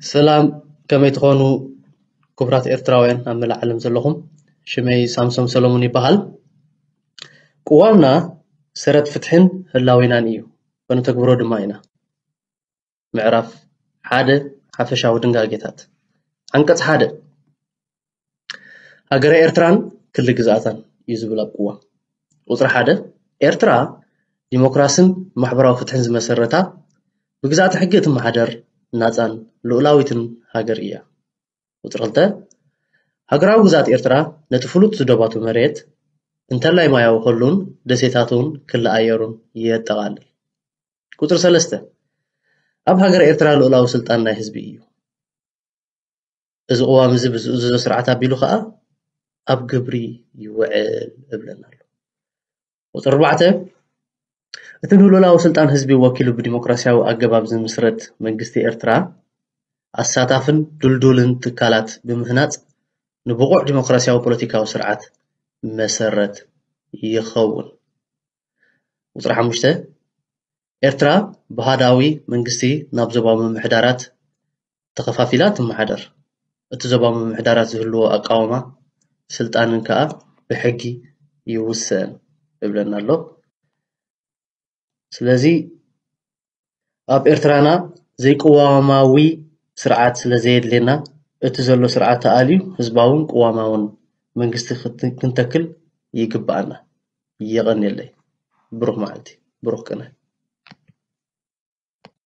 ሰላም፣ ከመይ ትኾኑ ክቡራት ኤርትራውያን ኣብ መላእ ዓለም ዘለኹም? ሽመይ ሳምሶም ሰሎሞን ይበሃል። ቅዋምና ሰረት ፍትሕን ህላዌናን እዩ፣ ከነተግብሮ ድማ ኢና። ምዕራፍ ሓደ፣ ሓፈሻዊ ድንጋጌታት። ዓንቀጽ ሓደ፣ ሃገረ ኤርትራን ክሊ ግዝኣታን እዩ ዝብል ኣብ ቅዋም። ቁጽሪ ሓደ፣ ኤርትራ ዲሞክራስን ማሕበራዊ ፍትሕን ዝመሰረታ፣ ብግዝኣተ ሕጊ እትመሓደር ናጻን ልኡላዊትን ሃገር እያ። ቁጽሪ ክልተ፣ ሃገራዊ ግዝኣት ኤርትራ ነቲ ፍሉጥ ዝዶባቱ መሬት እንተላይ ማያዊ ክሉን ደሴታቱን ክሊ ኣየሩን የጠቓልል። ቁጽሪ ሰለስተ፣ ኣብ ሃገረ ኤርትራ ልኡላዊ ስልጣን ናይ ህዝቢ እዩ። እዚ ቅዋም እዚ ብዝእዝዞ ስርዓት ኣቢሉ ከኣ ኣብ ግብሪ ይውዕል እብለና ኣሎ። ቁጽሪ ኣርባዕተ፣ እቲ ንልኡላዊ ስልጣን ህዝቢ ወኪሉ ብዲሞክራሲያዊ ኣገባብ ዝምስረት መንግስቲ ኤርትራ ኣሳታፍን ድልዱልን ትካላት ብምህናጽ ንብቑዕ ዲሞክራሲያዊ ፖለቲካዊ ስርዓት መሰረት ይኸውን። ቁጽሪ ሓሙሽተ፣ ኤርትራ ብሃዳዊ መንግስቲ ናብ ዞባዊ ምምሕዳራት ተኸፋፊላ ትመሓደር። እቲ ዞባዊ ምምሕዳራት ዝህልዎ ኣቃውማ ስልጣንን ከኣ ብሕጊ ይውሰን እብለና ኣሎ። ስለዚ ኣብ ኤርትራና ዘይቅዋማዊ ስርዓት ስለ ዘየድልየና፣ እቲ ዘሎ ስርዓት ተኣልዩ ህዝባውን ቅዋማውን መንግስቲ ክት-፣ ክንተክል ይግብኣና። የቐንየለይ። ብሩኽ መዓልቲ፣ ብሩኽ ቅነ።